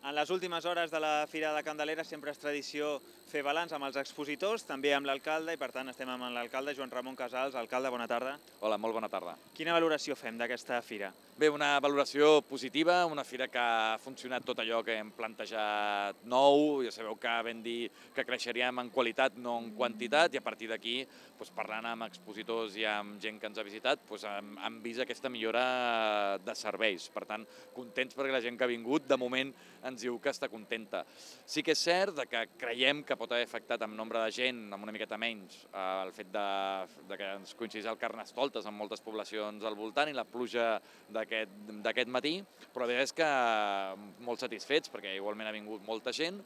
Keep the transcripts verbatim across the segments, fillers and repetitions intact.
En les últimes hores de la Fira de Candelera sempre és tradició fer balanç amb els expositors, també amb l'alcalde, i per tant estem amb l'alcalde Joan Ramon Casals. Alcalde, bona tarda. Hola, molt bona tarda. Quina valoració fem d'aquesta fira? Bé, una valoració positiva, una fira que ha funcionat tot allò que hem plantejat nou, ja sabeu que vam dir que creixeríem en qualitat, no en quantitat, i a partir d'aquí, doncs, parlant amb expositors i amb gent que ens ha visitat, doncs, hem, hem vist aquesta millora de serveis. Per tant, contents perquè la gent que ha vingut, de moment, ens diu que està contenta. Sí que és cert que creiem que pot haver afectat amb nombre de gent, amb una miqueta menys, el fet de, de que ens coincidís el Carnestoltes en moltes poblacions al voltant i la pluja d'aquest matí, però la veritat és que molt satisfets perquè igualment ha vingut molta gent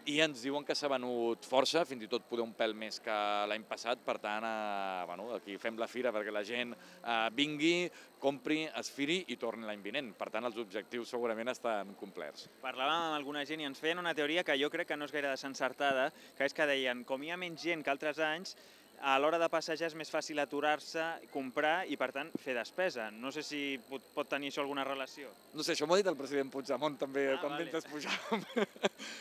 i ens diuen que s'ha venut força, fins i tot poder un pèl més que l'any passat, per tant, eh, bueno, aquí fem la fira perquè la gent eh, vingui, compri, es firi i torni l'any vinent. Per tant, els objectius segurament estan complerts. Parlàvem amb alguna gent i ens feien una teoria que jo crec que no és gaire desencertada, que és que deien, com hi ha menys gent que altres anys, a l'hora de passejar és més fàcil aturar-se, comprar i, per tant, fer despesa. No sé si pot, pot tenir això alguna relació. No sé, això m'ho ha dit el president Puigdemont també, ah, quan vale. mentre pujàvem.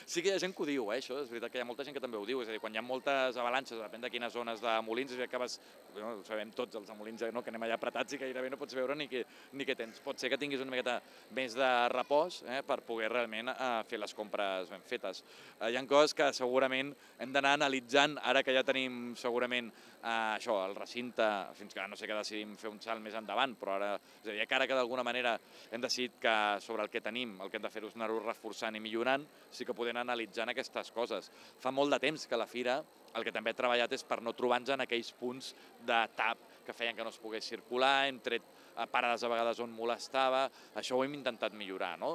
Sí que hi ha gent que ho diu, eh, això, és veritat que hi ha molta gent que també ho diu, és a dir, quan hi ha moltes avalanxes, depèn de quines zones de Molins, és que vas, no, ho sabem tots, els de Molins, no, que anem allà apretats i gairebé no pots veure ni què, ni què tens. Pot ser que tinguis una miqueta més de repòs eh, per poder realment eh, fer les compres ben fetes. Eh, hi ha coses que segurament hem d'anar analitzant, ara que ja tenim segurament Uh, això, el recinte, fins que no sé què decidim fer un salt més endavant, però ara, és a dir, ara que d'alguna manera hem decidit que sobre el que tenim, el que hem de fer és anar-ho reforçant i millorant, sí que podem analitzar aquestes coses. Fa molt de temps que la fira, el que també he treballat és per no trobar-nos en aquells punts de tap que feien que no es pogués circular, hem tret parades a vegades on molestava, això ho hem intentat millorar, no?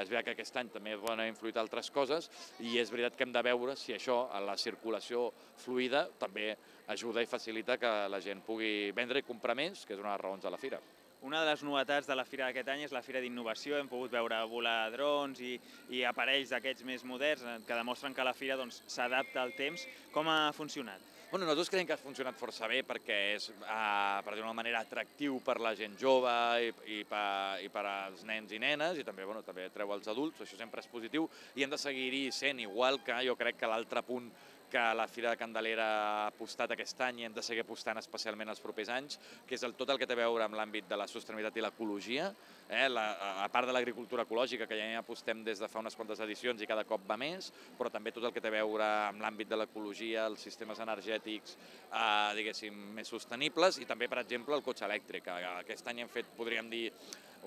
És veritat que aquest any també poden haver influït altres coses i és veritat que hem de veure si això, la circulació fluida, també ajuda i facilita que la gent pugui vendre i comprar més, que és una de les raons de la fira. Una de les novetats de la fira d'aquest any és la fira d'innovació. Hem pogut veure volar drons i, i aparells d'aquests més moderns que demostren que la fira s'adapta al temps. Com ha funcionat? Bueno, nosaltres creiem que ha funcionat força bé perquè és, eh, per dir-ho d'una manera, atractiu per la gent jove i, i, per, i per als nens i nenes i també, bueno, també treu els adults, això sempre és positiu i hem de seguir-hi sent, igual que jo crec que l'altre punt que la Fira de Candelera ha apostat aquest any i hem de seguir apostant especialment els propers anys, que és el, tot el que té a veure amb l'àmbit de la sostenibilitat i l'ecologia, eh, la, a part de l'agricultura ecològica, que ja hi apostem des de fa unes quantes edicions i cada cop va més, però també tot el que té a veure amb l'àmbit de l'ecologia, els sistemes energètics, eh, diguéssim, més sostenibles, i també, per exemple, el cotxe elèctric. Aquest any hem fet, podríem dir,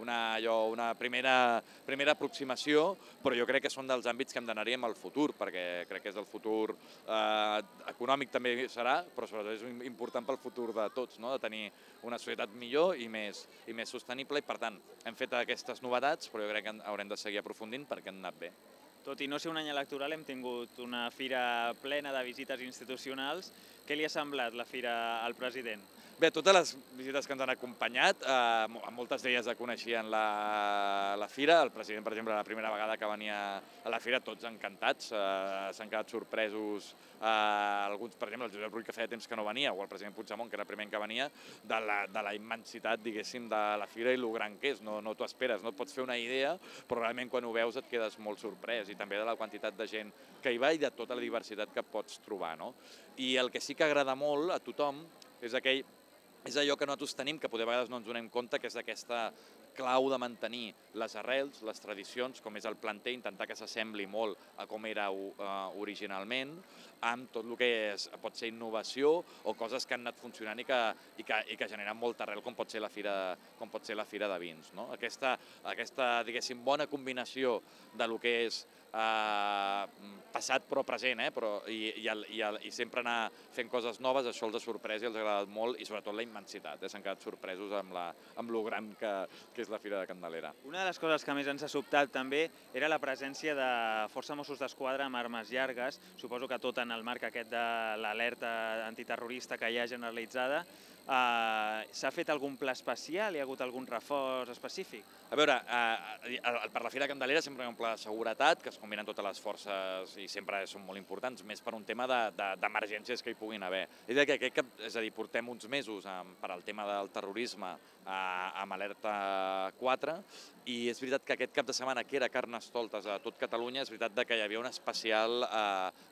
una, allò, una primera, primera aproximació, però jo crec que són dels àmbits que hem d'anar-hi amb el futur, perquè crec que és el futur eh, econòmic també serà, però sobretot és important pel futur de tots, no? De tenir una societat millor i més, i més sostenible, i per tant hem fet aquestes novetats, però jo crec que haurem de seguir aprofundint perquè han anat bé. Tot i no ser un any electoral, hem tingut una fira plena de visites institucionals. Què li ha semblat la fira al president? Bé, totes les visites que ens han acompanyat, eh, moltes d'elles ja coneixien la, la fira. El president, per exemple, la primera vegada que venia a la fira, tots encantats, eh, s'han quedat sorpresos. Eh, alguns, per exemple, el Josep Rull, que feia temps que no venia, o el president Puigdemont, que era el primer que venia, de la, de la immensitat, diguéssim, de la fira i lo gran que és. No, no t'ho esperes, no et pots fer una idea, però realment quan ho veus et quedes molt sorprès, i també de la quantitat de gent que hi va i de tota la diversitat que pots trobar, no? I el que sí que agrada molt a tothom és aquell és allò que nosaltres tenim, que potser a vegades no ens donem compte, que és aquesta clau de mantenir les arrels, les tradicions, com és el planter, intentar que s'assembli molt a com era originalment, amb tot el que és, pot ser innovació o coses que han anat funcionant i que, i que, i que generen molta arrel, com pot ser la fira, com pot ser la fira de vins, no? Aquesta, aquesta diguéssim, bona combinació de lo que és eh, passat però present, eh, però, i, i, el, i, el, i sempre anar fent coses noves, això els ha sorprès i els ha agradat molt, i sobretot la immensitat, eh? S'han quedat sorpresos amb, la, amb lo gran que, que és la Fira de Candelera. Una de les coses que més ens ha sobtat també era la presència de força Mossos d'Esquadra amb armes llargues, suposo que tot en el marc aquest de l'alerta antiterrorista que hi ha generalitzada. S'ha fet algun pla especial? Hi ha hagut algun reforç específic? A veure, per la Fira Candelera sempre hi ha un pla de seguretat, que es combinen totes les forces i sempre són molt importants, més per un tema d'emergències que hi puguin haver. És a dir, que aquest cap, és a dir, portem uns mesos per al tema del terrorisme amb alerta quatre, i és veritat que aquest cap de setmana, que era Carnestoltes a tot Catalunya, és veritat que hi havia una especial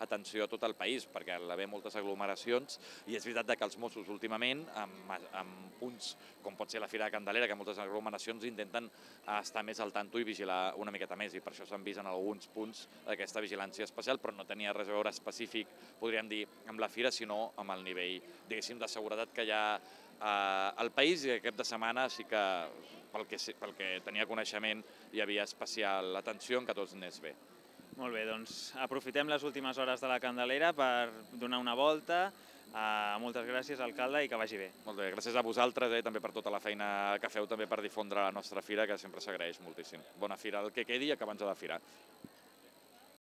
atenció a tot el país, perquè hi havia moltes aglomeracions, i és veritat que els Mossos últimament, en punts com pot ser la Fira de Candelera, que moltes aglomeracions intenten estar més al tanto i vigilar una miqueta més, i per això s'han vist en alguns punts aquesta vigilància especial, però no tenia res a veure específic, podríem dir, amb la Fira, sinó amb el nivell, diguéssim, de seguretat que hi ha al país, i aquest de setmana sí que, pel que tenia coneixement, hi havia especial atenció en que tots anés bé. Molt bé, doncs aprofitem les últimes hores de la Candelera per donar una volta. Moltes gràcies, alcalde, i que vagi bé. Molt bé, gràcies a vosaltres i també per tota la feina que feu també per difondre la nostra fira, que sempre s'agraeix moltíssim. Bona fira el que quedi i acabant-nos de la fira.